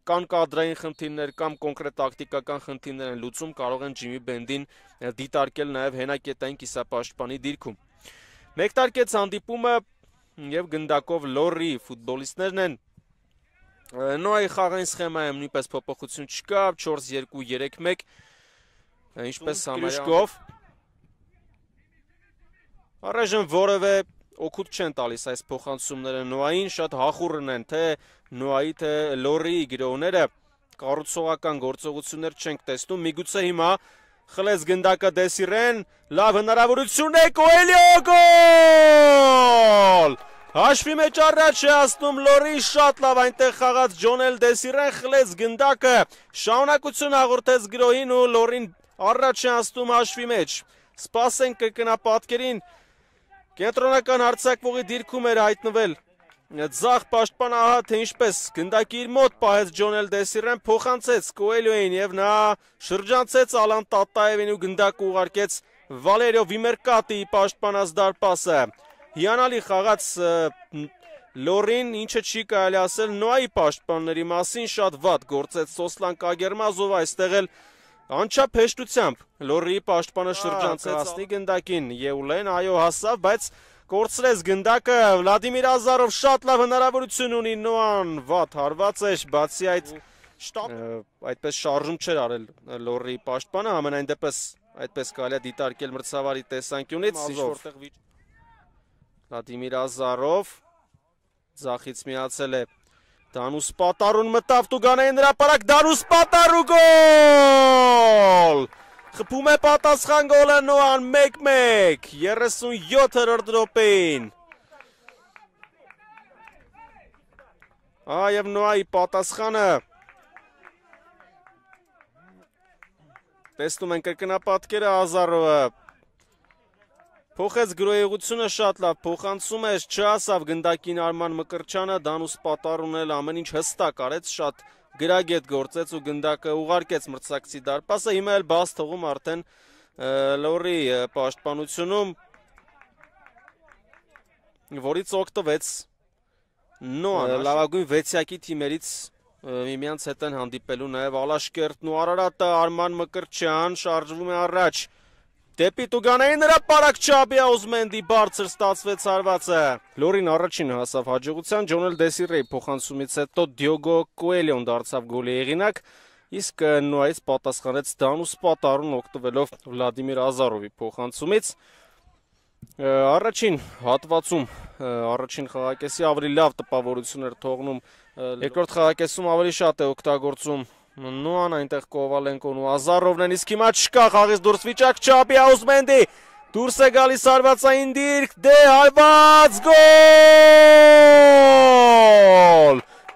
կան կադրային խնդիրներ կամ կոնկրետ տակտիկական խնդիրներ են լուծում, կարող են Ջիմի Բենդին դիտարկել նաև հենակետային կիսապաշտպանի դիրքում։ Մեկտարկեց հանդիպումը եւ գնդակով Լորի ֆուտբոլիստներն են։ Նոայի խաղային սխեմայում նույնպես փոփոխություն չկա, 4-2-3-1, ինչպես համարյա առայժմ որևէ օգուտ չեն տալիս այս փոխանցումները Նոային, շատ հախուռն են թե Նոայի թե Լորիի գրողները, կառուցողական գործողություններ չենք տեսնում, միգուցե հիմա խլեց գնդակը Դեսիրեն, լավ հնարավորություն է, Կոելիո գոլ! Հաշվի մեջ առաջ է հասնում Լորի, շատ լավ այնտեղ խաղաց Ջոնել Դեսիրեն, խլեց գնդակը, շարունակություն հաղորդեց գրոհին ու Լորին առաջ է հասնում հաշվի մեջ։ Սպասենք կրկնապատկերին, կենտրոնական հարձակվողի դիրքում էր հայտնվել ձախ պաշտպան, ահա թե ինչպես գնդակի իր մոտ պահեց Ջոնել Դեսիրեն, փոխանցեց Կոելիոին եւ նա շրջանցեց Ալան Տատաևին ու գնդակը ուղարկեց Վալերիո Վիմերկատիի պաշտպանած դարպասը։ Հիանալի խաղաց Լորին, ինչը չի կարելի ասել Նոայի պաշտպանների մասին, շատ վատ գործեց Սոսլան Կագերմազովը, այստեղ էլ անչափ հեշտությամբ Լորիի պաշտպանը շրջանցեց ասնի գնդակին, Եուլեն, այո հասավ, բայց կորցրեց գնդակը, Վլադիմիր Ազարով շատ լավ հնարավորություն ունի, Նոան վատ հարված էր, բացի այդ այդպես շարժում չէր արել Լորիի պաշտպանը, ամենայն դեպս այդպես կարելի է դիտարկել մրցավարի տեսանկյունից, Վլադիմիր Ազարով ձախից միացել է Դանուս Պատարուն, մտավ Տուգանային հրապարակ, Դանուս Պատարու գոլ! Խփում է պատասխան գոլը Նոան 1-1, 37-րդ րոպեին։ Այև Նոայի պատասխանը տեսնում են կրկնապատկերը Ազարովը փոխեց գրոյեղությունը շատ լավ, փոխանցում է, չհասավ գնդակին Արման Մկրչյանը, Դանուս Պատարուն էլ ամեն ինչ հստակ արեց, շատ գրագետ գործեց ու գնդակը ուղարկեց մրցակցի դարպասը, հիմա էլ բաց թողում արդեն Լորի պաշտպանությունում, որից օգտվեց Նոան, լավագույն 6-յակի թիմերից միմյանց հետ են հանդիպելու նաև Ալաշկերտն ու Արարատը, Արման Մկրչյան շարժվում է առաջ, դեպի Տուգանային հրապարակ Չաբի Աուզմենդի բարձր ստացվեց հարվածը։ Լորին առաջին հասավ հաջողության, Ջոնել Դեսիրեի փոխանցումից հետո Դիոգո Կոելիոն դարձավ գոլի հեղինակ, իսկ Նոայից պատասխանեց Դանուս Պատարուն օգտվելով Վլադիմիր Ազարովի փոխանցումից։ Առաջին հատվածում, առաջին խաղակեսի ավելի լավ տպավորություն էր թողնում, երկրորդ խաղակեսում ավելի շատ է օգտագործում Նոան, այնտեղ Կովալենկոն ու Ազարովն են, իսկ հիմա չկա խաղից դուրս վիճակ, Չաբի Աուզմենդի դուրս է գալիս հարվածային դիրք, դե հարված գոլ!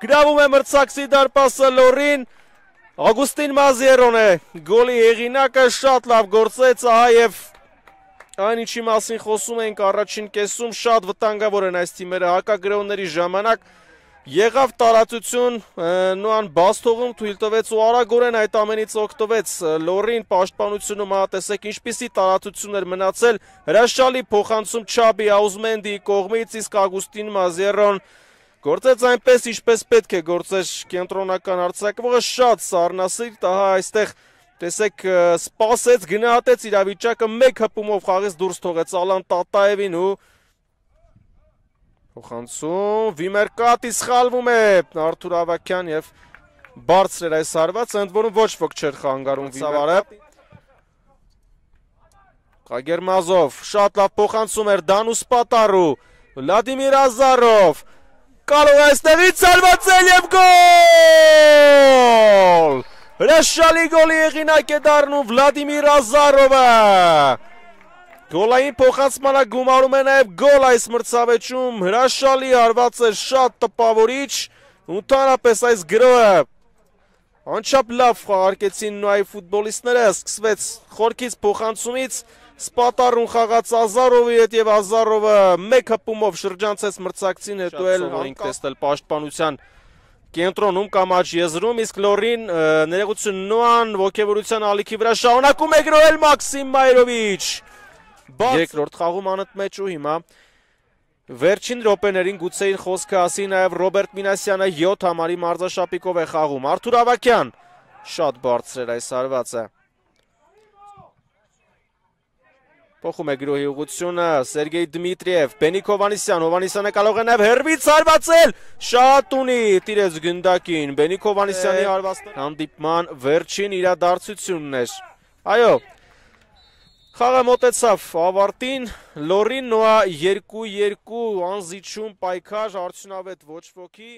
Գրավում է մրցակցի դարպասը Լորին, Ագուստին Մազիերոն է գոլի հեղինակը, շատ լավ գործեց, ահա եւ այն ինչի մասին խոսում ենք առաջին կեսում, շատ վտանգավոր են այս թիմերը հակագրողների ժամանակ, եղավ տարածություն, Նոան բաց թողում թույլ տվեց ու արագորեն այդ ամենից օգտվեց Լորին պաշտպանությունում, տեսեք ինչպիսի տարածություն էր մնացել, հրաշալի փոխանցում Չաբի Աուզմենդի կողմից, իսկ Ագուստին Մազիերոն գործեց այնպես ինչպես պետք է գործեր կենտրոնական արձակվողը, շատ սառնասիրտ, ահա այստեղ տեսեք սպասեց, գնահատեց իրավիճակը, մեկ հպումով խաղից դուրս թողեց Ալան Տատաևին ու փոխանցում, Վիմերկատի սխալվում է Արթուր Ավակյան եւ բարձր էր այս հարվածը, ընդ որում ոչ ոք չէր խանգարում Վիմարը։ Կագերմազով, շատ լավ փոխանցում էր Դանուս Պատարու, Վլադիմիր Ազարով, կարող է այստեղից հարվածել եւ գոլ! Հրաշալի գոլի հեղինակ է դառնում Վլադիմիր Ազարովը։ Գոլային փոխանցմանը գումարում է նաև գոլ այս մրցավեճում, հրաշալի հարված է, շատ տպավորիչ, ընդհանրապես այս գրոհը անչափ լավ խաղարկեցին Նոայի ֆուտբոլիստները, սկսվեց խորքից փոխանցումից, Սպատարուն խաղաց Ազարովի հետ եւ Ազարովը մեկ հպումով շրջանցեց մրցակցին, հետո էլ ենք տեսնել պաշտպանության կենտրոնում կամ աջ եզրում, իսկ Լորին ներողություն Նոան ոգևորության ալիքի վրա շարունակում է գրոհել Մաքսիմ Մայրովիչ։ Երկրորդ խաղում անընդմեջ ու հիմա Վերջին րոպեներին գուցեին խոսքը ասի նաև Ռոբերտ Մինասյանը 7 համարի մարզաշապիկով է խաղում։ Արթուր Ավագյան շատ բարձր էր այս հարվածը։ Փոխում է գրոհի ուղղությունը Սերգեյ Դմիտրիև, Բենիկ Հովանիսյան, Հովանիսյանը կարող է նաև հերվից հարվածել, շատ ունի տիրեց գնդակին, Բենիկ Հովանիսյանի հարվածը հանդիպման վերջին իրադարձությունն էր։ Այո, խաղը մոտեցավ ավարտին, Լորին Նոա 2-2 անզիջում պայքար, արդյունավետ ոչ ոքի։